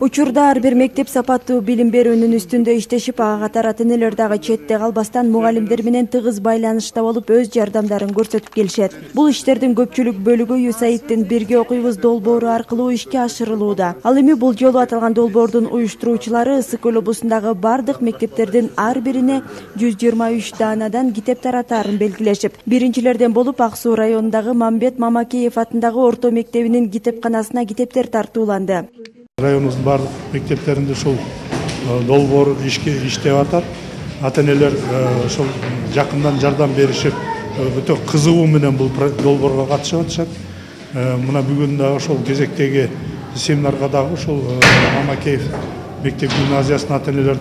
Учурда ар бир мектеп сапаттуу билим берүүнүн үстүндө иштешип, ага катар ата-энелер дагы четте калбастан мугалимдер менен тыгыз байланышта болуп, өз жардамдарын көрсөтүп келишет. Бул иштердин көпчүлүк бөлүгү USAIDтин «Бирге окуйбуз» долбоору аркылуу ишке ашырылууда. Ал эми бул жолу аталган долбоордун уюштуруучулары Ысык көл облусундагы бардык мектептердин ар бирине 123 даанадан китеп таратаарын белгилешип, биринчилерден болуп Ак Суу районундагы Мамбет Мамакеев атындагы орто мектебинин китепканасына китептер тартууланды. Районубуздун бардык мектептеринде ушул долбоор иштеп атат. Ата-энелер ошол жакындан жардам беришип, өтө кызыгуу менен бул долбоорго катышып атышат. Мына бүгүн дагы ошол кезектеги семинарга дагы ушул Мамакеев мектеп гимназиясынын ата-энелери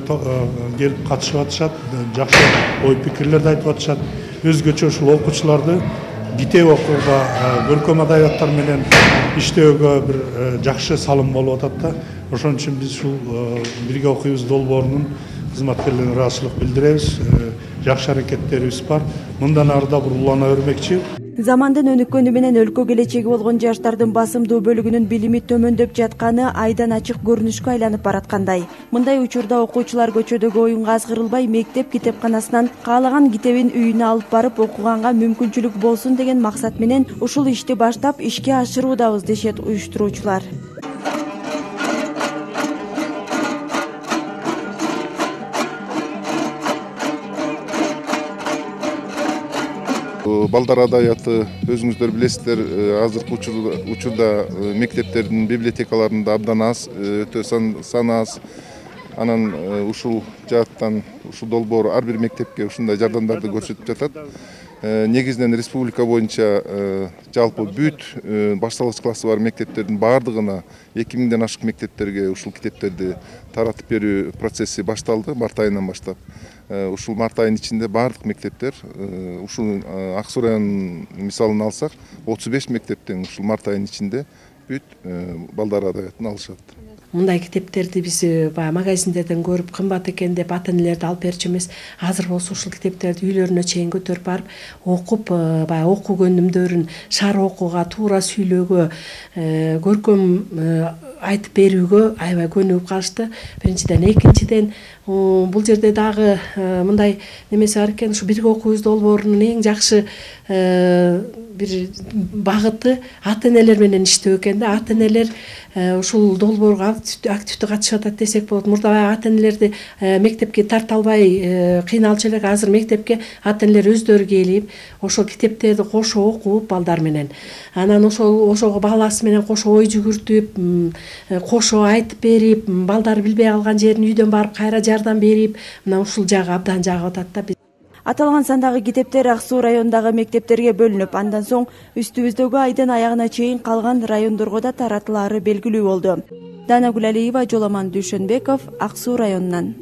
келип катышып атышат. Жакшы ой пикирлерди айтып атышат. Өзгөчө ушул окуучуларды китеп окууга, көркөм адабияттар менен иштөөгө бир жакшы салым болуп атат да. Ошон үчүн биз ушул «Бирге окуйбуз» долбоорунун кызматкерлерине ыраазычылык билдиребиз. Жакшы аракеттерибиз бар. Мындан ары да улана бермекчи. Замандын өнүккөнү менен өлкө келечеги болгон жаштардын басымдуу бөлүгүнүн билими төмөндөп жатканы айдан ачык көрүнүшкө айланып бараткандай. Мындай учурда окуучулар көчөдөгү оюнга азгырылбай, мектеп китепканасынан каалаган китебин үйүнө алып барып окуганга мүмкүнчүлүк болсун деген максат менен ушул ишти баштап ишке ашыруудабыз, дешет уюштуруучулар. Балдар адабияты өзүңүздөр билесиздер, азыркы учурда мектептердин библиотекаларында абдан аз, өтө саны аз. Анан ушул жааттан ушул долбоор ар бир мектепке ушундай жардамдарды көрсөтүп жатат. Негизинен республика боюнча жалпы бүт башталгыч классы бар мектептердин баардыгына 2000ден ашык мектептерге ушул китептерди таратып берүү процесси башталды март айынан баштап. Ушул март айынын ичинде бардык мектептер, ушул Ак Суу районунун мисалын алсак, 35 мектептен ушул март айынын ичинде бүт балдар адабиятын алышат. Мындай китептерди биз баягы магазиндерден көрүп кымбат экен деп ата-энелерди алып берчү эмес. Азыр болсо ушул китептерди үйлөрүнө чейин көтөрүп барып, окуп, баягы окуу көнүмдөрүн шаар окууга, туура сүйлөөгө, көркөм айтып берүүгө аябай көнүгүп калышты. Биринчиден, экинчиден бул жерде дагы мындай немеси бар экен, ушу «Бирге окуйбуз» долбоорунун эң жакшы бир багыты ата-энелер менен иштөө экен да. Ата-энелер ушул долбоорго активдүү катышып атат десек болот. Мурда ата-энелерди мектепке тарта албай кыйналчу элек. Азыр мектепке ата-энелер өздөрү келип, ошол китептерди кошо окуп балдар менен. Анан ошого баласы менен кошо ой жүгүртүп, кошо айтып берип, балдар билбей калган жерин үйдөн барып кайра жардам берип, мына ушул жагы абдан жагып атат да. Аталган сандагы китептер Ак Суу районундагы мектептерге бөлүнүп, андан соң үстүбүздөгү айдын аягына чейин калган райондорго да таратылаары белгилүү болду. Данагүл Алиева, Жоламан Дүйшөнбеков, Ак Суу районунан.